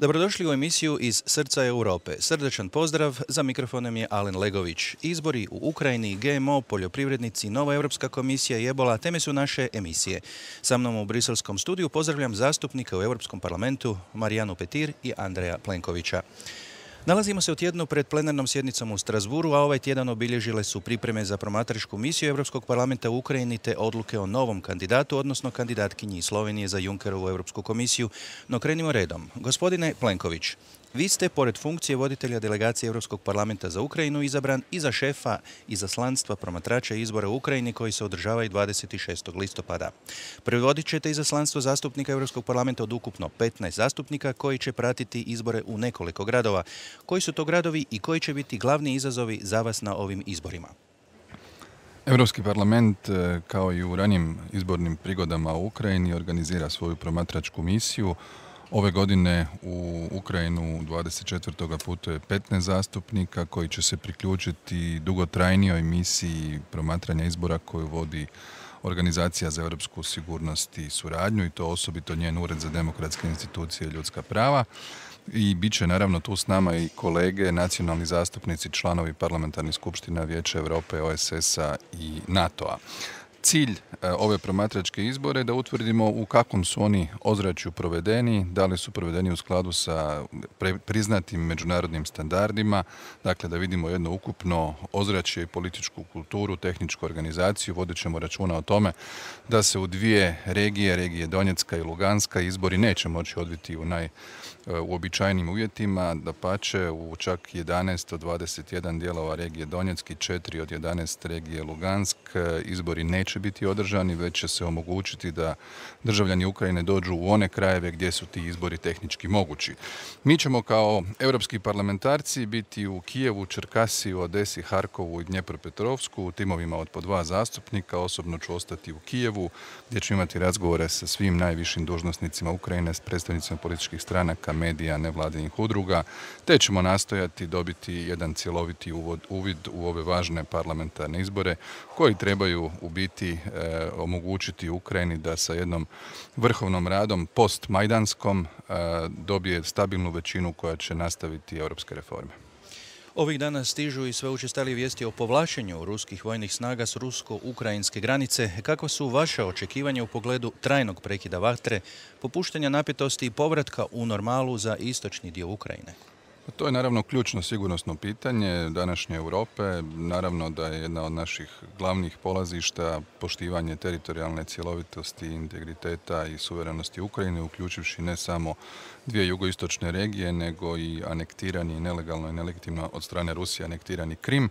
Dobrodošli u emisiju iz Srca Europe. Srdečan pozdrav, za mikrofonom je Alen Legović. Izbori u Ukrajini, GMO, poljoprivrednici, nova Europska komisija i ebola teme su naše emisije. Sa mnom u briselskom studiju pozdravljam zastupnika u Europskom parlamentu Marijanu Petir i Andreja Plenkovića. Nalazimo se u tjednu pred plenarnom sjednicom u Strasburu, a ovaj tjedan obilježile su pripreme za promatračku misiju Europskog parlamenta u Ukrajini te odluke o novom kandidatu, odnosno kandidatkinji Slovenije za Junckerovu Europsku komisiju. No krenimo redom. Gospodine Plenković, vi ste, pored funkcije voditelja delegacije Europskog parlamenta za Ukrajinu, izabran i za šefa izaslanstva promatrača izbora u Ukrajini koji se održavaju 26. listopada. Predvodit ćete izaslanstvo zastupnika Europskog parlamenta od ukupno 15 zastupnika koji će pratiti izbore u nekoliko gradova. Koji su to gradovi i koji će biti glavni izazovi za vas na ovim izborima? Europski parlament, kao i u ranijim izbornim prigodama u Ukrajini, organizira svoju promatračku misiju. Ove godine u Ukrajinu 24. putuje 15 zastupnika koji će se priključiti dugotrajnijoj misiji promatranja izbora koju vodi Organizacija za europsku sigurnost i suradnju, i to osobito njen Ured za demokratske institucije i ljudska prava. I bit će naravno tu s nama i kolege, nacionalni zastupnici, članovi parlamentarnih skupština Vijeća Europe, OSS-a i NATO-a. Cilj ove promatračke izbore je da utvrdimo u kakvom su oni ozračju provedeni, da li su provedeni u skladu sa priznatim međunarodnim standardima, dakle da vidimo jedno ukupno ozračje i političku kulturu, tehničku organizaciju. Vodit ćemo računa o tome da se u dvije regije Donjecka i Luganska, izbori neće moći odviti u uobičajenim uvjetima, dapače u čak 11 od 21 dijelova regije Donjeck i 4 od 11 regije Lugansk izbori neće biti održani, već će se omogućiti da državljani Ukrajine dođu u one krajeve gdje su ti izbori tehnički mogući. Mi ćemo kao europski parlamentarci biti u Kijevu, Čerkasiju, Odesi, Harkovu i Dnjepropetrovsku u timovima od po 2 zastupnika. Osobno ću ostati u Kijevu gdje ću imati razgovore sa svim najvišim dužnosnicima Ukrajine, s predstavnicima političkih stranaka, medija, nevladinih udruga, te ćemo nastojati dobiti jedan cjeloviti uvid u ove važne parlamentarne izbore koji trebaju u biti omogućiti Ukrajini da sa jednom vrhovnom radom post-majdanskom dobije stabilnu većinu koja će nastaviti europske reforme. Ovih dana stižu i sve učestalije vijesti o povlačenju ruskih vojnih snaga s rusko-ukrajinske granice. Kakva su vaša očekivanja u pogledu trajnog prekida vatre, popuštanja napetosti i povratka u normalu za istočni dio Ukrajine? To je naravno ključno sigurnosno pitanje današnje Europe. Naravno da je jedna od naših glavnih polazišta poštivanje teritorijalne cjelovitosti, integriteta i suverenosti Ukrajine, uključivši ne samo dvije jugoistočne regije, nego i anektirani nelegalno i nelegitimno od strane Rusije anektirani Krim.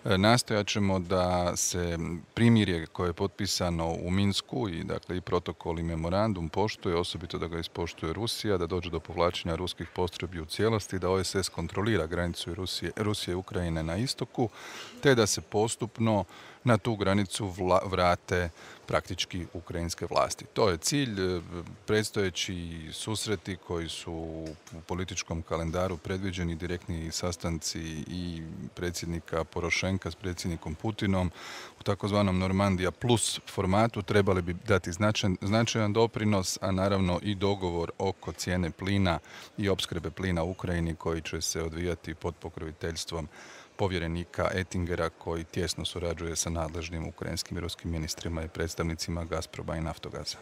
Nastojat ćemo da se primirje koje je potpisano u Minsku i dakle i protokol i memorandum poštuje, osobito da ga ispoštuje Rusija, da dođe do povlačenja ruskih postrojbi u cijelosti, da OSS kontrolira granicu Rusije i Ukrajine na istoku, te da se postupno na tu granicu vrate praktički ukrajinske vlasti. To je cilj. Predstojeći susreti koji su u političkom kalendaru predviđeni, direktni sastanci i predsjednika Porošenka s predsjednikom Putinom u takozvanom Normandija plus formatu trebali bi dati značajan doprinos, a naravno i dogovor oko cijene plina i opskrbe plina u Ukrajini koji će se odvijati pod pokroviteljstvom povjerenika Ettingera koji tjesno surađuje sa nadležnim ukrajinskim i ruskim ministrima i predstavnicima Gazproma i Naftogaza.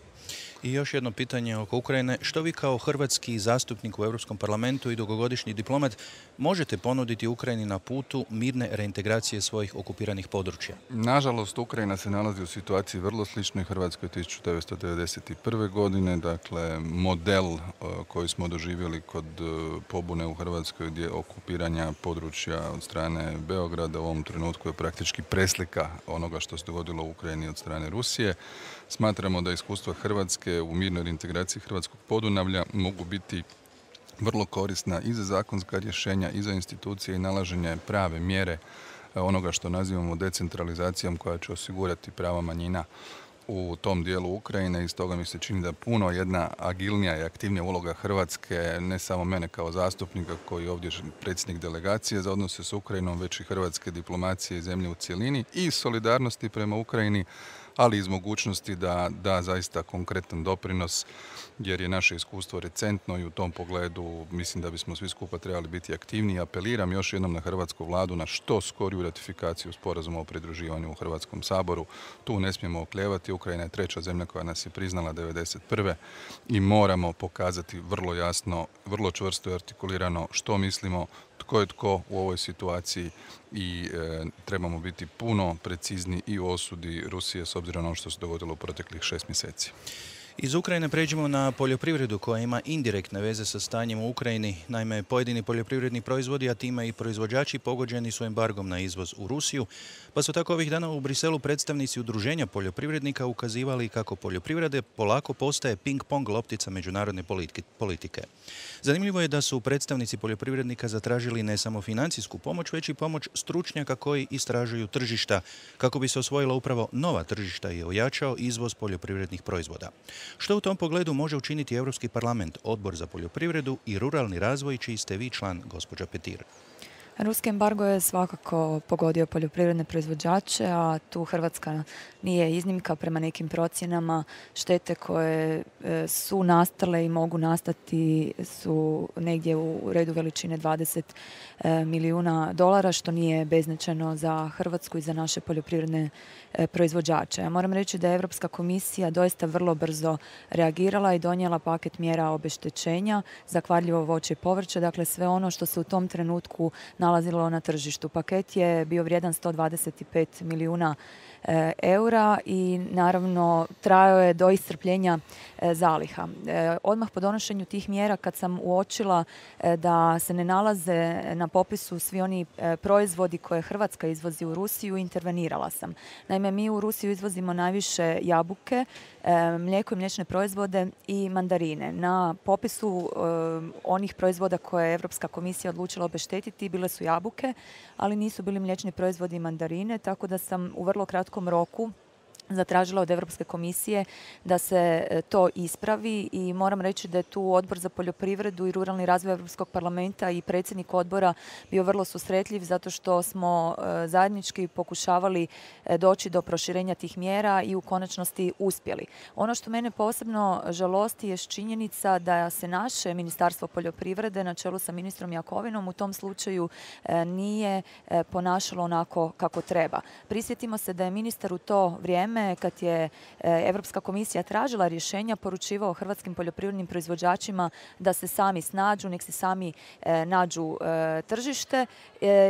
I još jedno pitanje oko Ukrajine. Što vi kao hrvatski zastupnik u Europskom parlamentu i dugogodišnji diplomat možete ponuditi Ukrajini na putu mirne reintegracije svojih okupiranih područja? Nažalost, Ukrajina se nalazi u situaciji vrlo sličnoj Hrvatskoj 1991. godine. Dakle, model koji smo doživjeli kod pobune u Hrvatskoj gdje okupiranja područja od strane Beograda u ovom trenutku je praktički preslika onoga što se dogodilo u Ukrajini od strane Rusije. Smatramo da iskustva Hrvatske u mirnoj integraciji hrvatskog Podunavlja mogu biti vrlo korisna i za zakonska rješenja i za institucije i nalaženje prave mjere onoga što nazivamo decentralizacijom koja će osigurati prava manjina u tom dijelu Ukrajine i stoga mi se čini da puno jedna agilnija i aktivnija uloga Hrvatske, ne samo mene kao zastupnika koji je ovdje predsjednik delegacije za odnose s Ukrajinom, već i hrvatske diplomacije i zemlje u cjelini i solidarnosti prema Ukrajini, ali iz mogućnosti da da zaista konkretan doprinos, jer je naše iskustvo recentno i u tom pogledu mislim da bismo svi skupa trebali biti aktivniji. Apeliram još jednom na hrvatsku vladu na što skoriju ratifikaciju sporazuma o pridruživanju u Hrvatskom saboru. Tu ne smijemo oklijevati. Ukrajina je treća zemlja koja nas je priznala 1991. i moramo pokazati vrlo jasno, vrlo čvrsto i artikulirano što mislimo, tko je tko u ovoj situaciji i trebamo biti puno precizni i u osudi Rusije s obzirom na ono što se dogodilo u proteklih 6 mjeseci. Iz Ukrajine pređemo na poljoprivredu koja ima indirektne veze sa stanjem u Ukrajini. Naime, pojedini poljoprivredni proizvodi, a time i proizvođači, pogođeni su embargom na izvoz u Rusiju, pa su tako ovih dana u Briselu predstavnici udruženja poljoprivrednika ukazivali kako poljoprivrede polako postaje ping-pong loptica međunarodne politike. Zanimljivo je da su predstavnici poljoprivrednika zatražili ne samo financijsku pomoć, već i pomoć stručnjaka koji istražuju tržišta, kako bi se osvojila upravo nova tržišta i ojačao izvoz poljoprivrednih proizvoda. Što u tom pogledu može učiniti Europski parlament, Odbor za poljoprivredu i ruralni razvoj, čiji ste vi član, gospođa Petir? Ruski embargo je svakako pogodio poljoprivredne proizvođače, a tu Hrvatska nije iznimka. Prema nekim procjenama štete koje su nastale i mogu nastati su negdje u redu veličine 20 milijuna dolara, što nije beznačajno za Hrvatsku i za naše poljoprivredne proizvođače. Ja moram reći da je Europska komisija doista vrlo brzo reagirala i donijela paket mjera obeštećenja za kvarljivo voće i povrće, dakle sve ono što se u tom trenutku nalazilo na tržištu. Paket je bio vrijedan 125 milijuna eura i naravno trajao je do iscrpljenja zaliha. Odmah po donošenju tih mjera, kad sam uočila da se ne nalaze na popisu svi oni proizvodi koje Hrvatska izvozi u Rusiju, intervenirala sam. Naime, mi u Rusiju izvozimo najviše jabuke, mlijeko i mliječne proizvode i mandarine. Na popisu onih proizvoda koje je Europska komisija odlučila obeštetiti bile su jabuke, ali nisu bili mliječni proizvodi i mandarine, tako da sam u vrlo kratkom roku zatražila od Europske komisije da se to ispravi i moram reći da je tu Odbor za poljoprivredu i ruralni razvoj Europskog parlamenta i predsjednik odbora bio vrlo susretljiv zato što smo zajednički pokušavali doći do proširenja tih mjera i u konačnosti uspjeli. Ono što mene posebno žalosti je činjenica da se naše Ministarstvo poljoprivrede na čelu sa ministrom Jakovinom u tom slučaju nije ponašalo onako kako treba. Prisjetimo se da je ministar u to vrijeme kad je Europska komisija tražila rješenja, poručivao hrvatskim poljoprivrednim proizvođačima da se sami snađu, nek se sami nađu tržište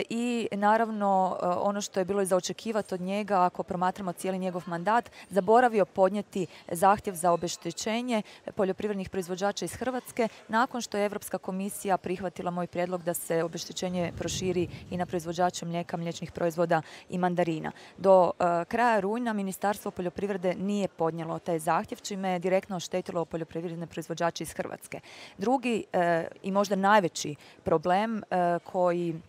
i naravno ono što je bilo i za očekivati od njega, ako promatramo cijeli njegov mandat, zaboravio podnijeti zahtjev za obeštećenje poljoprivrednih proizvođača iz Hrvatske nakon što je Europska komisija prihvatila moj prijedlog da se obeštećenje proširi i na proizvođače mlijeka, mliječnih proizvoda i mandarina. Do kraja rujna Ministarstvo poljoprivrede nije podnijelo taj zahtjev, čime je direktno oštetilo poljoprivredne proizvođače iz Hrvatske. Drugi i možda najveći problem koji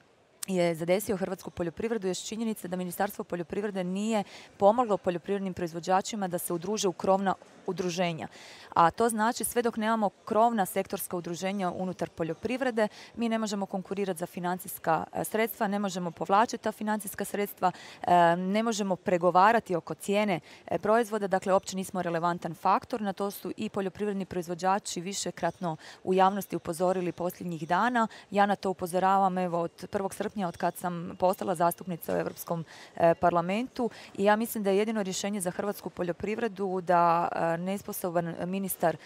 je zadesio hrvatsku poljoprivredu je činjenica da Ministarstvo poljoprivrede nije pomoglo poljoprivrednim proizvođačima da se udruže u krovna udruženja. A to znači sve dok nemamo krovna sektorska udruženja unutar poljoprivrede, mi ne možemo konkurirati za financijska sredstva, ne možemo povlačiti ta financijska sredstva, ne možemo pregovarati oko cijene proizvoda, dakle uopće nismo relevantan faktor. Na to su i poljoprivredni proizvođači višekratno u javnosti upozorili posljednjih dana. Ja na to upozoravam evo od 1. srpnja od kad sam postala zastupnica u Europskom parlamentu i ja mislim da je jedino rješenje za hrvatsku poljoprivredu da nesposoban ministar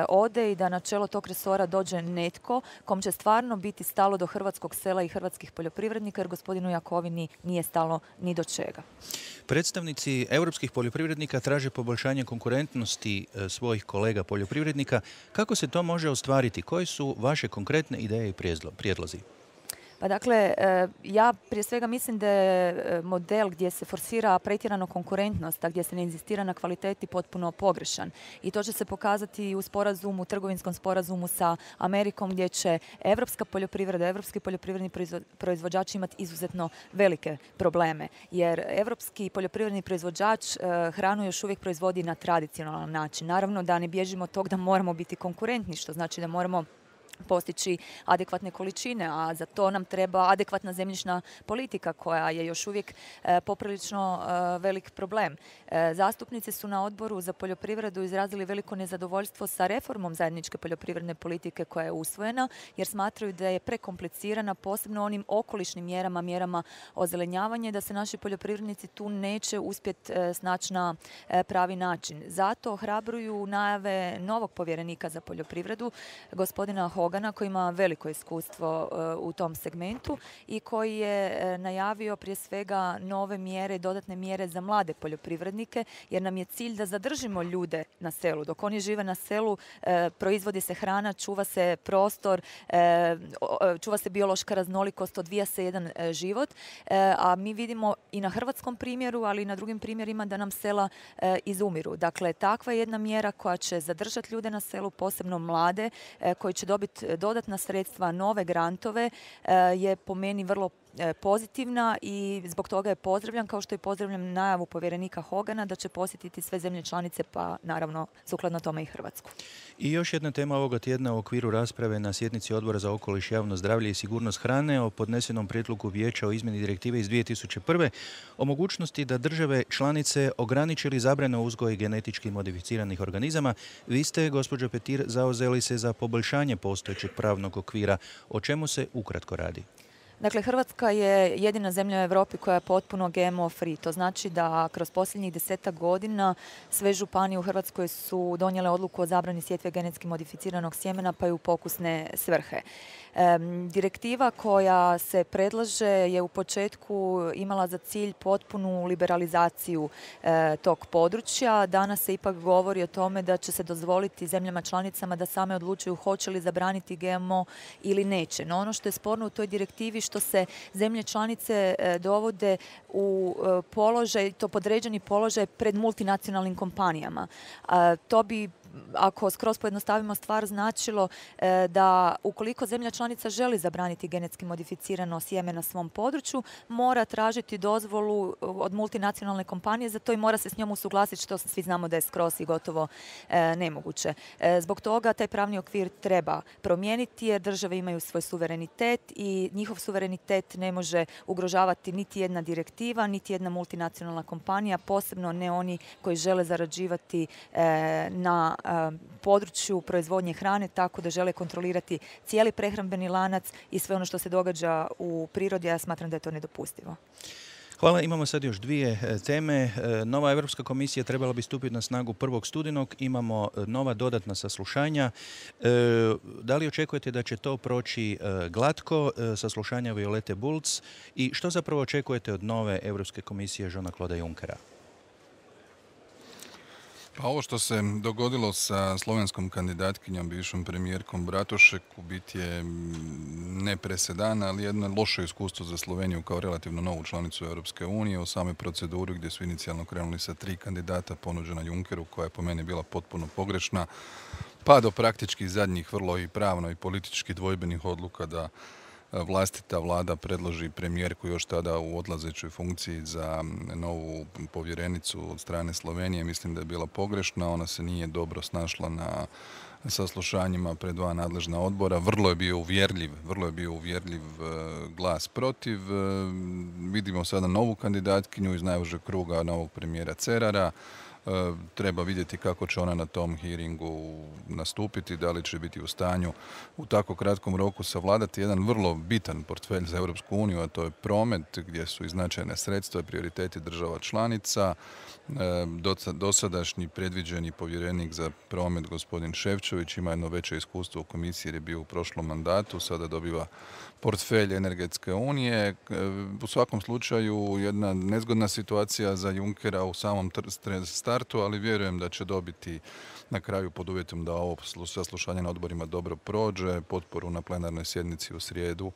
ode i da na čelo tog resora dođe netko kom će stvarno biti stalo do hrvatskog sela i hrvatskih poljoprivrednika, jer gospodinu Jakovini nije stalo ni do čega. Predstavnici europskih poljoprivrednika traže poboljšanje konkurentnosti svojih kolega poljoprivrednika. Kako se to može ostvariti? Koje su vaše konkretne ideje i prijedlozi? Pa dakle, ja prije svega mislim da je model gdje se forsira pretjerano konkurentnost, a gdje se ne inzistira na kvaliteti potpuno pogrešan. I to će se pokazati u sporazumu, trgovinskom sporazumu sa Amerikom, gdje će evropska poljoprivreda, evropski poljoprivredni proizvođači imati izuzetno velike probleme. Jer evropski poljoprivredni proizvođač hranu još uvijek proizvodi na tradicionalan način. Naravno da ne bježimo od tog da moramo biti konkurentni, što znači da moramo postići adekvatne količine, a za to nam treba adekvatna zemljišna politika koja je još uvijek poprilično velik problem. Zastupnici su na Odboru za poljoprivredu izrazili veliko nezadovoljstvo sa reformom zajedničke poljoprivredne politike koja je usvojena, jer smatraju da je prekomplicirana, posebno onim okolišnim mjerama, mjerama ozelenjavanja, da se naši poljoprivrednici tu neće uspjeti snaći na pravi način. Zato ohrabruju najave novog povjerenika za poljoprivredu, gospodina Hogana, koji ima veliko iskustvo u tom segmentu i koji je najavio prije svega nove mjere, dodatne mjere za mlade poljoprivrednike, jer nam je cilj da zadržimo ljude na selu. Dok oni žive na selu, proizvodi se hrana, čuva se prostor, čuva se biološka raznolikost, odvija se jedan život, a mi vidimo i na hrvatskom primjeru, ali i na drugim primjerima da nam sela izumiru. Dakle, takva je jedna mjera koja će zadržati ljude na selu, posebno mlade, koji će dobiti dodatna sredstva, nove grantove, je po meni vrlo pozitivna i zbog toga je pozdravljam, kao što i pozdravljam najavu povjerenika Hogana da će posjetiti sve zemlje članice, pa naravno sukladno tome i Hrvatsku. I još jedna tema ovoga tjedna u okviru rasprave na sjednici Odbora za okoliš, javno zdravlje i sigurnost hrane o podnesenom prijedlogu Vijeća o izmjeni direktive iz 2001. o mogućnosti da države članice ograniče ili zabrane uzgoj genetički modificiranih organizama. Vi ste, gospođo Petir, zauzeli se za poboljšanje postojećeg pravnog okvira. O čemu se ukratko radi? Dakle, Hrvatska je jedina zemlja u Europi koja je potpuno GMO free. To znači da kroz posljednjih 10 godina sve županije u Hrvatskoj su donijele odluku o zabrani sjetve genetski modificiranog sjemena pa i u pokusne svrhe. Direktiva koja se predlaže je u početku imala za cilj potpunu liberalizaciju tog područja. Danas se ipak govori o tome da će se dozvoliti zemljama članicama da same odlučuju hoće li zabraniti GMO ili neće. No ono što je sporno u toj direktivi što se zemlje članice dovode u položaj, to podređeni položaj pred multinacionalnim kompanijama. To bi, ako skroz pojednostavimo stvar, značilo da ukoliko zemlja članica želi zabraniti genetski modificirano sjeme na svom području, mora tražiti dozvolu od multinacionalne kompanije za to i mora se s njom usuglasiti, što svi znamo da je skroz i gotovo nemoguće. Zbog toga taj pravni okvir treba promijeniti jer države imaju svoj suverenitet i njihov suverenitet ne može ugrožavati niti jedna direktiva, niti jedna multinacionalna kompanija, posebno ne oni koji žele zarađivati na području proizvodnje hrane, tako da žele kontrolirati cijeli prehrambeni lanac i sve ono što se događa u prirodi. Ja smatram da je to nedopustivo. Hvala. Imamo sad još dvije teme. Nova Europska komisija trebala bi stupiti na snagu 1. studenog. Imamo nova dodatna saslušanja. Da li očekujete da će to proći glatko, saslušanja Violete Bulc? I što zapravo očekujete od nove Europske komisije Jeana-Claude Junckera? Pa ovo što se dogodilo sa slovenskom kandidatkinjom, bivšom premijerkom Bratušek, u biti je ne presedan, ali jedno loše iskustvo za Sloveniju kao relativno novu članicu Europske unije u samoj proceduri gdje su inicijalno krenuli sa 3 kandidata ponuđena Junckeru, koja je po meni bila potpuno pogrešna, pa do praktički zadnjih vrlo i pravno i politički dvojbenih odluka da vlastita vlada predloži premijerku još tada u odlazećoj funkciji za novu povjerenicu od strane Slovenije. Mislim da je bila pogrešna, ona se nije dobro snašla na saslušanjima pred 2 nadležna odbora. Vrlo je bio uvjerljiv glas protiv. Vidimo sada novu kandidatkinju iz najužeg kruga novog premijera Cerara. Treba vidjeti kako će ona na tom hearingu nastupiti, da li će biti u stanju u tako kratkom roku savladati jedan vrlo bitan portfelj za Europsku uniju, a to je promet, gdje su i značajne sredstva i prioriteti država članica. Dosadašnji predviđeni povjerenik za promet, gospodin Ševčević, ima jedno veće iskustvo u komisiji jer je bio u prošlom mandatu, sada dobiva portfelj energetske unije. U svakom slučaju jedna nezgodna situacija za Junckera u samom startu, ali vjerujem da će dobiti na kraju, pod uvjetom da ovo saslušanje na odborima dobro prođe, potporu na plenarnoj sjednici u srijedu,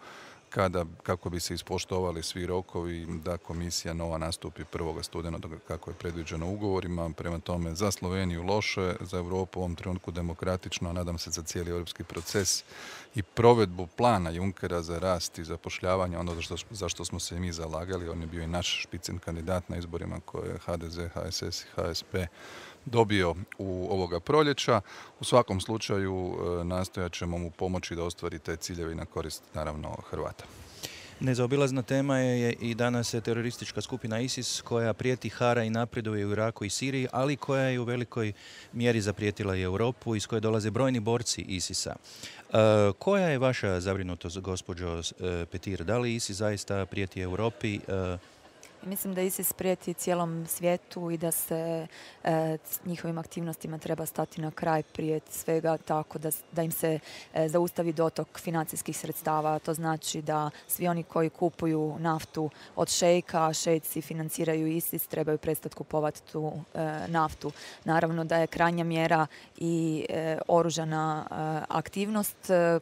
kako bi se ispoštovali svi rokovi da komisija nova nastupi 1. studenog kako je predviđeno ugovorima. Prema tome, za Sloveniju loše, za Europu u ovom trenutku demokratično, a nadam se za cijeli europski proces i provedbu plana Junckera za rast i zapošljavanje, ono za što smo se i mi zalagali. On je bio i naš špicen kandidat na izborima koje je HDZ, HSS i HSP dobio u ovoga proljeća. U svakom slučaju nastojat ćemo mu pomoći da ostvari te ciljeve i na korist, naravno, Hrvata. Nezaobilazna tema je i danas teroristička skupina ISIS koja prijeti, hara i napreduje u Iraku i Siriji, ali koja je u velikoj mjeri zaprijetila i Europu, iz koje dolaze brojni borci ISIS-a. Koja je vaša zabrinutost, gospođo Petir? Da li ISIS zaista prijeti Europi? Mislim da ISIS prijeti cijelom svijetu i da se s njihovim aktivnostima treba stati na kraj, prije svega tako da im se zaustavi dotok financijskih sredstava. To znači da svi oni koji kupuju naftu od šejka, a šejci financiraju ISIS, trebaju prestati kupovati tu naftu. Naravno da je krajnja mjera i oružana aktivnost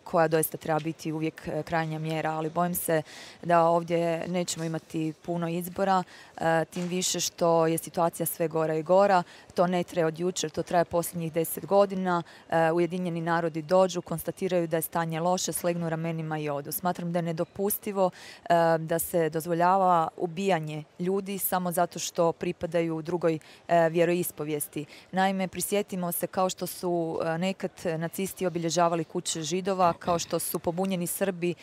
koja doista treba biti uvijek krajnja mjera, ali bojim se da ovdje nećemo imati puno izbora, tim više što je situacija sve gora i gora. To ne traje od jučer, to traje posljednjih 10 godina. Ujedinjeni narodi dođu, konstatiraju da je stanje loše, slegnu ramenima i odu. Smatram da je nedopustivo da se dozvoljava ubijanje ljudi samo zato što pripadaju drugoj vjeroispovijesti. Naime, prisjetimo se kao što su nekad nacisti obilježavali kuće Židova, kao što su pobunjeni Srbi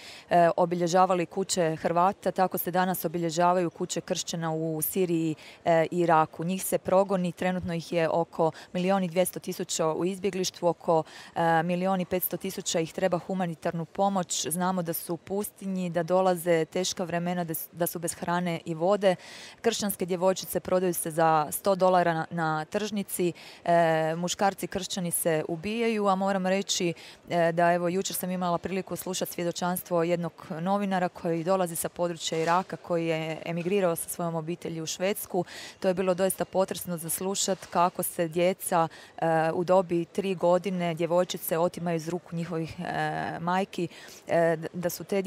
obilježavali kuće Hrvata, tako se danas obilježavaju kuće kršćana u Siriji i Iraku. Njih se progoni, trenutno ih je oko 1.200.000 u izbjeglištvu, oko 1.500.000 ih treba humanitarnu pomoć. Znamo da su u pustinji, da dolaze teška vremena, da su bez hrane i vode. Kršćanske djevojčice prodaju se za $100 na tržnici, muškarci kršćani se ubijaju, a moram reći da evo jučer sam imala priliku slušati svjedočanstvo jednog novinara koji dolazi sa područja Iraka, koji je emigrirao sa svojom obitelji u Švedsku. To je bilo doista potresno za slušati kako se djeca u dobi 3 godine, djevojčice, otimaju iz ruku njihovih majki, da su te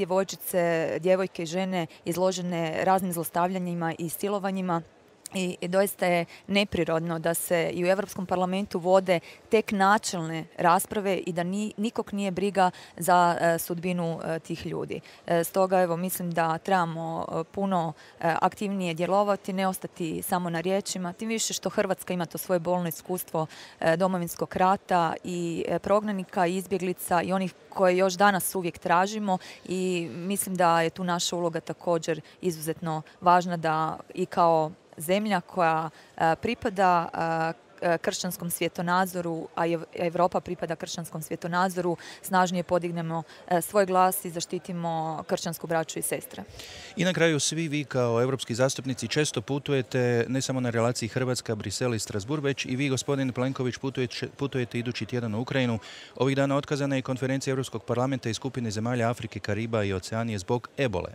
djevojke i žene izložene raznim zlostavljanjima i silovanjima. I doista je neprirodno da se i u Europskom parlamentu vode tek načelne rasprave i da nikog nije briga za sudbinu tih ljudi. Stoga evo mislim da trebamo puno aktivnije djelovati, ne ostati samo na riječima, tim više što Hrvatska ima to svoje bolno iskustvo Domovinskog rata i prognanika i izbjeglica i onih koje još danas uvijek tražimo i mislim da je tu naša uloga također izuzetno važna da i kao zemlja koja pripada kršćanskom svjetonazoru, a Europa pripada kršćanskom svjetonazoru, snažnije podignemo svoj glas i zaštitimo kršćansku braću i sestre. I na kraju svi vi kao europski zastupnici često putujete ne samo na relaciji Hrvatska, Brisel i Strasbourg, već i vi, gospodin Plenković, putujete idući tjedan u Ukrajinu. Ovih dana otkazana je konferencija Europskog parlamenta i skupine zemalja Afrike, Kariba i Oceanije zbog ebole.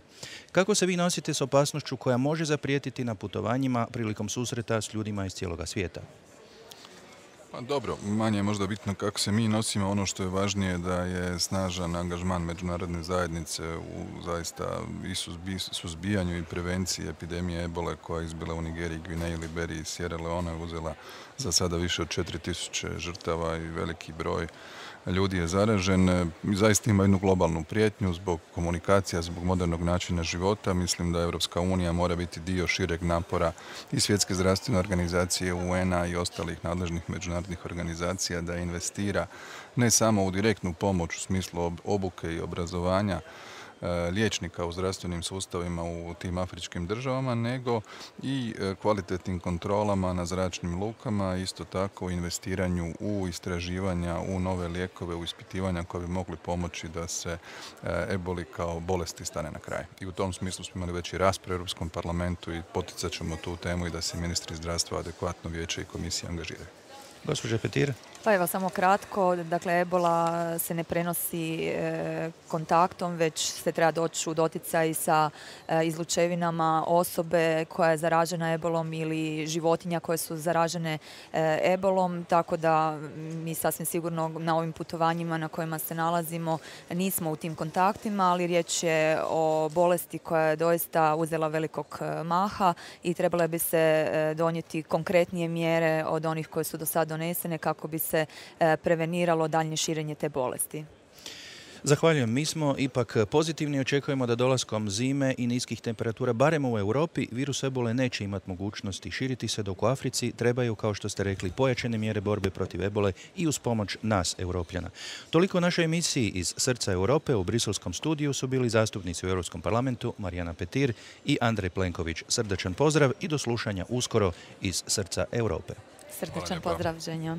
Kako se vi nosite s opasnošću koja može zaprijetiti na putovanjima prilikom susreta s ljudima iz cijeloga svijeta? Pa dobro, manje je možda bitno kako se mi nosimo, ono što je važnije da je snažan angažman međunarodne zajednice u zaista i suzbijanju i prevenciji epidemije ebole koja je izbila u Nigeriji, Gvineji, Liberiji i Sierra Leone, uzela za sada više od 4.000 žrtava i veliki broj ljudi je zaražen. Zaista ima jednu globalnu prijetnju zbog komunikacija, zbog modernog načina života. Mislim da Europska unija mora biti dio šireg napora i Svjetske zdravstvene organizacije, UN-a i ostalih nadležnih međunarodnih organizacija da investira ne samo u direktnu pomoć u smislu obuke i obrazovanja liječnika u zdravstvenim sustavima u tim afričkim državama, nego i kvalitetnim kontrolama na zračnim lukama, isto tako investiranju u istraživanja, u nove lijekove, u ispitivanja koje bi mogli pomoći da se eboli kao bolesti stane na kraj. I u tom smislu smo imali već i raspravu u Europskom parlamentu i poticat ćemo tu temu i da se ministri zdravstva adekvatno, vijeće i komisije angažiraju. Gospođa Petir. Pa evo, samo kratko. Dakle, ebola se ne prenosi kontaktom, već se treba doći u doticaj sa izlučevinama osobe koja je zaražena ebolom ili životinja koje su zaražene ebolom, tako da mi sasvim sigurno na ovim putovanjima na kojima se nalazimo nismo u tim kontaktima, ali riječ je o bolesti koja je doista uzela velikog maha i trebale bi se donijeti konkretnije mjere od onih koje su do sada donesene kako bi se preveniralo daljnje širenje te bolesti. Zahvaljujem. Mi smo ipak pozitivni, očekujemo da dolaskom zime i niskih temperatura, barem u Europi, virus ebole neće imati mogućnosti širiti se, dok u Africi trebaju, kao što ste rekli, pojačane mjere borbe protiv ebole i uz pomoć nas, Europljana. Toliko u našoj emisiji iz Srca Europe. U briselskom studiju su bili zastupnici u Europskom parlamentu Marijana Petir i Andrej Plenković. Srdačan pozdrav i do slušanja uskoro iz Srca Europe. Srdačan pozdrav, Ženja.